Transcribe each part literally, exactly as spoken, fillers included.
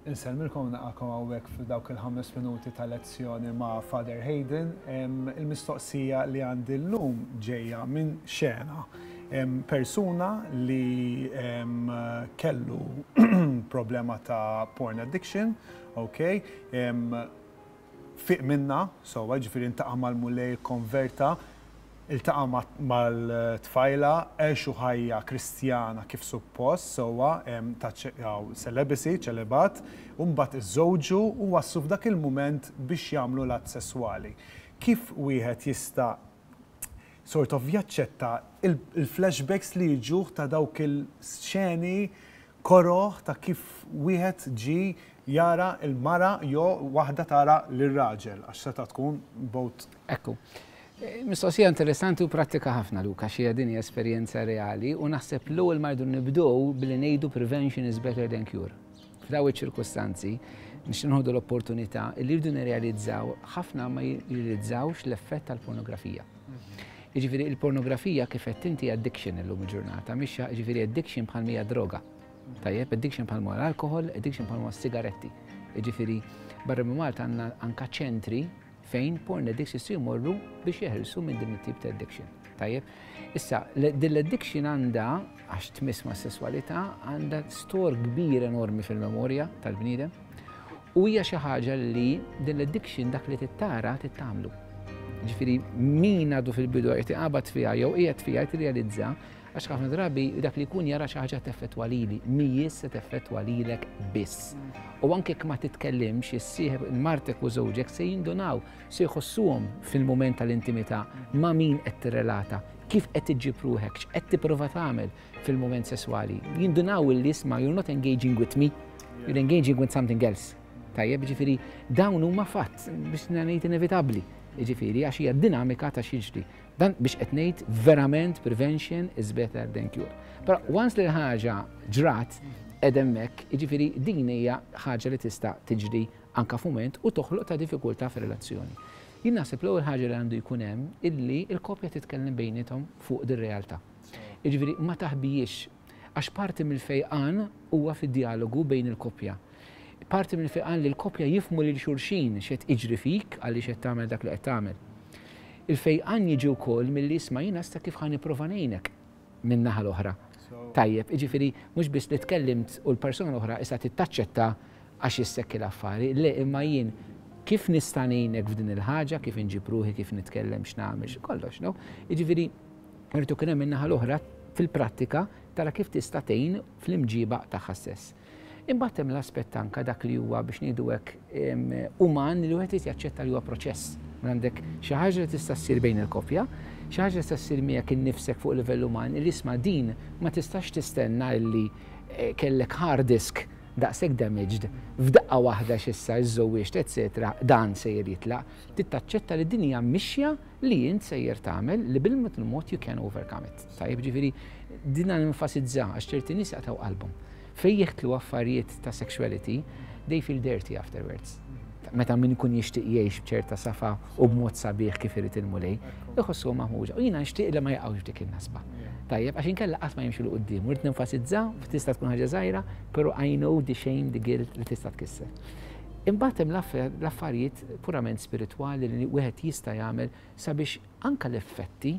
Insellmilkom, nilqagħkom hawnhekk f'dawk il-ħames minuti ta' lezzjoni ma' Father Hayden. Il-mistoqsija li għandi llum ġejja minn xena. Persuna li kellu problema ta' porn addiction, ok? Fiq minna, so ġifieri iltaqa' mal-Mulej, konverta, iltaqa' mal-tfajla, għexu ħajja Kristjana kif suppost, sewwa, ta' celibacy, ċelibat, u mbagħad iżżewġu u waslu f'dak il-moment biex jagħmlu l-att sesswali. Kif wieħed jista' sort of jaċċetta il-flashbacks li jiġuh ta' dawk il-xeni koroh ta' kif wieħed ġi jara il-mara jew waħda tara lir-raġel, għax seta' tkun both? Ekku. Mistoqsija interessanti u pratika ħafna, Luka, xi din hija esperjenza reali u naħseb l-ewwel ma rridu nibdew billi ngħidu prevention is better than cure. F'daw iċ-ċirkustanzi nixtieq nieħdu l-opportunità li rridu nirrealizzaw, ħafna ma jirrealizzawx l-effett tal-pornografija. Jiġifieri il-pornografija, kif qed inti, addiction illum il-ġurnata, mhix, jiġifieri addiction bħal mija droga. Tajjeb, addiction bħal l-alkohol, addiction bħal sigaretti. Jiġifieri barra minn Malta għandna anka ċentri fejn porn addicts jistgħu jmorru biex jeħilsu minn din it-tip ta' addiction. Tajjeb, issa din l-addiction għandha, għax tmiss ma' sessualità, għandha store kbir enormi fil-memorja tal-bniedem u hija xi ħaġa li din l-addiction dak li tittara tittamlu. Ġifieri min għadu fil-bidu qed iqabad fiha jew qiegħed fiha tirrealizza, għax ħafna drabi dak li jkun jara xi ħaġa teffettwa lili, mhijiex se teffettwa lilek biss. U anke jekk ma titkellimx, issieħeb martek u żewġek se jindunaw, se jħossuhom fil-mument tal-intimità ma' min qed tirrelata, kif qed iġġib ruħek, x'qed tipprova tagħmel fil-mument sesswali. Jindunaw li, isma', you're not engaging with me, you're engaging with something else. Tajjeb, ġifieri dawn huma fatt biex ngħid inevitabbli. Ġifieri għax hija dinamika ta' x'jiġri. Dan biex qed ngħid verament prevention is better than cure. Però once li l-ħaġa ġrat edemmek, ġifieri din hija ħaġa li tista' tiġri anka f'mument u toħloq ta' diffikultà fir-relazzjoni. Jien naħseb l-ewwel ħaġa li għandu jkun hemm illi l-koppja titkellem bejniethom fuq dir-realtà. Jiġifieri ma taħbijiex, għax parti mill-fejqan huwa fid-dialogu bejn il-koppja. Parti mill-fejqan li l-koppja jifhmu lil xulxin, x'qed jiġri fik, għaliex qed tagħmel dak li qed tagħmel. Il-fejqan jiġi wkoll milli, isma', jiena sta kif ħa nipprova ngħinek minn naħa l-oħra. Tajjeb, jiġifieri mhux biss li tkellimt u l-persuna l-oħra issa tittaċċetta għax jissekki l-affari, le, imma jien kif nista' ngħinek f'din il-ħaġa, kif inġib ruħi, kif nitkellem, x'nagħmel, kollox, no? Jiġifieri irtu kien hemm min-naħa l-oħra fil-prattika tara kif tista' tgħin fl-imġiba tagħha stess. Imbagħad hemm l-aspett anka dak li huwa, biex ngħidu hekk, uman, li wieħed jaċċetta li huwa proċess. Għandek xi ħaġa li tista' ssir bejn il-koppja, xi ħaġa li tista' ssir miegħek innifsek fuq livell uman, li, isma', din ma tistax tistenna li eh, kellek hard disk daqshekk damaged f'daqqa waħda x'issa iż-żewwieġt, eċetera, dan sejjer jitlaq. Tittaċċetta li din hija mixja li int sejjer tagħmel li bil-mod il-mod you can overcome it. Tajjeb, ġifieri din nenfasizza għax ċerti nies jaqtgħu qalbhom. Fej jeħtlu affarijiet ta' sexuality, they feel dirty afterwards. Meta min ikun jixtieq jgħix b'ċerta safa u b'mod sabiħ kif irid il-Mulej, iħossu maħmuġa. U jiena nixtieq li ma jaqgħux f'dik in-nasba. Tajjeb, għax inkella qatt ma jimxu 'l quddiem. Rrid nenfasizza, tista' tkun ħaġa żgħira, però I know the shame, the guilt li tista' tkisser. Imbagħad hemm l-affarijiet purament spiritwali li wieħed jista' jagħmel sabiex anka l-effetti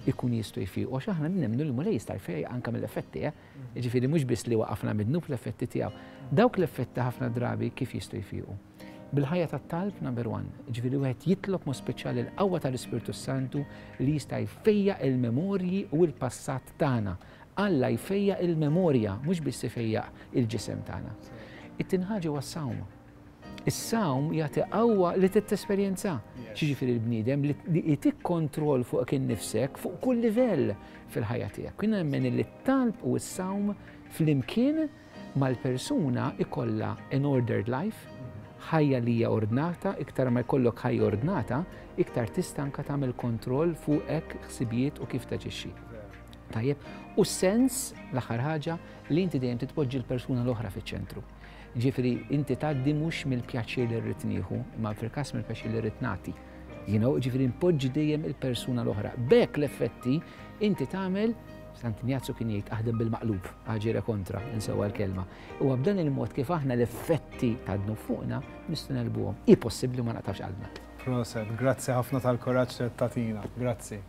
ikun jistgħu jfiqu. Għax aħna nemmnu li Mulej jista' jfejjaq anka mill-effetti, eh? Jiġifieri mhux biss li waqafna mid-dnub, l-effetti tiegħu. Dawk l-effetti ħafna drabi kif jistgħu jfiqu? Bil-ħajja tat-talb, number one, ġifieri wieħed jitlob mod speċjali l-qawwa tal-Ispirtu Santu li jista' jfejjaq il-memorji u l-passat tagħna. Alla jfejjaq il-memorja, mhux biss ifejjaq il-ġisem tagħna. It-tieni ħaġa huwa s-sawm. Is-sawm jagħti qawwa li titesperjenza. Xiġifieri l-bniedem li jtik kontroll fuq innifsek fuq kull livell fil-ħajja tiegħek. Kien nemmen li t-talb u s-sawm flimkien mal-persuna ikolla an ordered life, ħajja li hija ordnata. Iktar ma jkollok ħajja ordnata, iktar tista' anka tagħmel kontroll fuqek, ħsibijiet u kif taġixxi. Tajjeb, u sens l-aħħar ħaġa li inti dejjem titpoġġi l-persuna l-oħra fiċ-ċentru. Ġifieri inti tgħaddi mhux mill-pjaċir li rrid nieħu, imma fil-każ mill-pjaċir li rrid nagħti. You know, ġifieri npoġġi dejjem il-persuna l-oħra. B'hekk l-effetti inti tagħmel Sant'Injazzu kien jgħid aħdem bil-maqlub, agere contra, insewwa l-kelma. U b'dan il-mod kif aħna l-effetti ta' dnub fuqna nistgħu negħlbuhom. Hi possibbli, ma naqtgħux qalbna. Proset, grazzi ħafna tal-kuraġġ li tagħtina. Grazzi.